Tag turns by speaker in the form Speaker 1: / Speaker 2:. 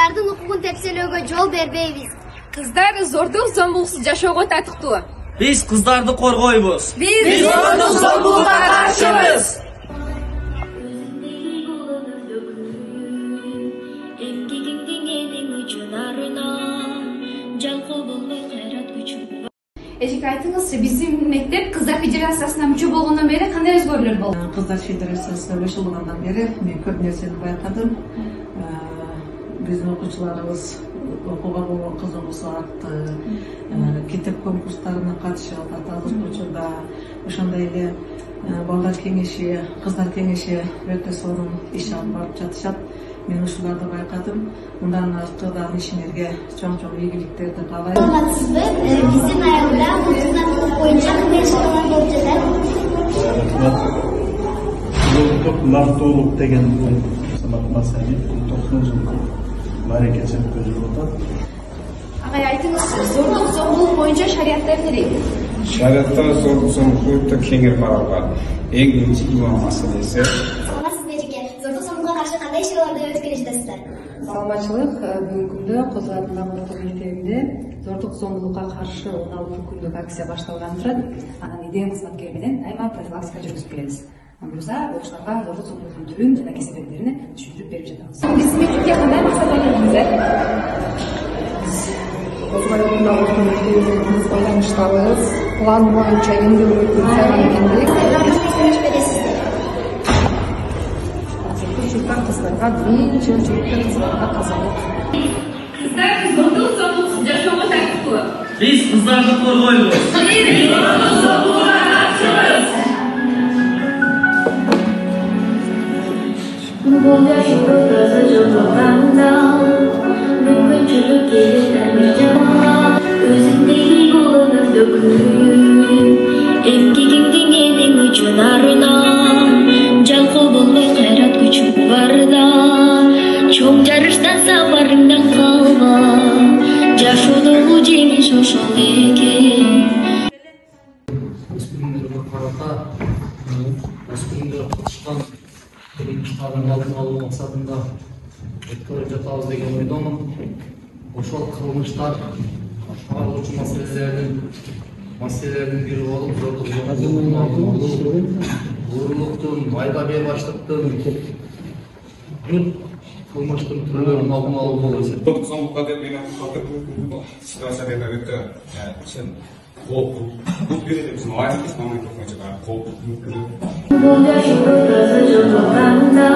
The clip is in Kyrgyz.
Speaker 1: Кыздардын укугун тепселөөгө жол бербейбиз.
Speaker 2: Кыздар зордук зомбулуксуз жашоого татыктуу.
Speaker 3: Биз кыздарды коргойбуз.
Speaker 2: Биз зордук зомбулукка каршыбыз.
Speaker 4: Эжеке айтыңызчы, биздин мектеп кыздар федерациясына мүчө болгондон бери кандай өзгөрүүлөр болду?
Speaker 5: Кыздар федерациясына кошулгандан бери мен көп нерсени байкадым. Биздин окуучуларыбыз окууга болгон кызыгуусу артты. Китеп конкурстарына катышып аталык учурда, ошондой эле балдар кеңеши, кыздар кеңеши өтө сонун иш алып барып жатышат. Мен ушуларды байкадым. Мындан аркыдан ишиңерге чоң-чоң ийгиликтерди каалайм.
Speaker 1: Саламатсызбы? Биздин айылда кыздар боюнча кандай иш-чаралар болуп жатат?
Speaker 6: Улуттук мактоолук деген маселе 90-жылдык мааракеси өткөрүлүп атат.
Speaker 4: Агай айтыңызчы, зордук зомбулук боюнча шариятта эмне?
Speaker 7: Шариатта зордук зомбулук өтө кеңири каралган. Эң биринчи имам маселеси.
Speaker 1: Саламатсызбы эжеке? Зордук зомбулукка каршы кандай иш-чараларды өткөрүп жатасыздар?
Speaker 8: Саламатчылык. Бүгүнкү күндө Козу атындагы орто мектебинде зордук зомбулукка каршы 16 күндүк акция башталган турат. Анан идея кызматкери менен айма профилактика жүргүзүп келебиз. Буюрса, окуучуларга зордук зомбулуктун түрүн жана кесепеттерин түшүндүрүп берип жатабыз. Биздин мектепке кандай максат ойлодуңуздар?
Speaker 9: Козу атындагы орто мектебибиз байланыштабыз. План боюнча эмгек өткөрүп келдик. Кыздарга биринчи очередде кыздарга тазалык.
Speaker 2: Кыздар зордук зомбулуксуз жашоого татыктуу.
Speaker 3: Биз кыздарды коргойбуз.
Speaker 2: Биз зордук зомбулукка каршыбыз.
Speaker 10: Бул жашоодо таза жолдоганда мүмкүнчүлүк келет өзүңдеги колуңдун дөкүн эмгегиңдин элиң үчүн арына жалкоо болбой кайрат күчүң барда чоң жарыштан сапарыңдан калба жашоодогу жеңиш ошол экен.
Speaker 11: Өспүрүмдөргө карата өспүрүмдөр кылышкан кылмыштардын алдын алуу максатында өткөрүп жатабыз деген ойдомун. Ошол кылмыштар каралуучу маселелердин бири болуп, зордук зомбулук, уурулуктун, майда бейбаштыктын, бүт кылмыштын түрлөрүнүн алдын алуу болуп эсептейт.
Speaker 7: Зордук зомбулукка деп мен ситуация деп өтө чын кооптуу. Бул бир эле биздин айылыбыз мамлекет боюнча кооптуу.
Speaker 10: Бул жашоодо таза жолдоганда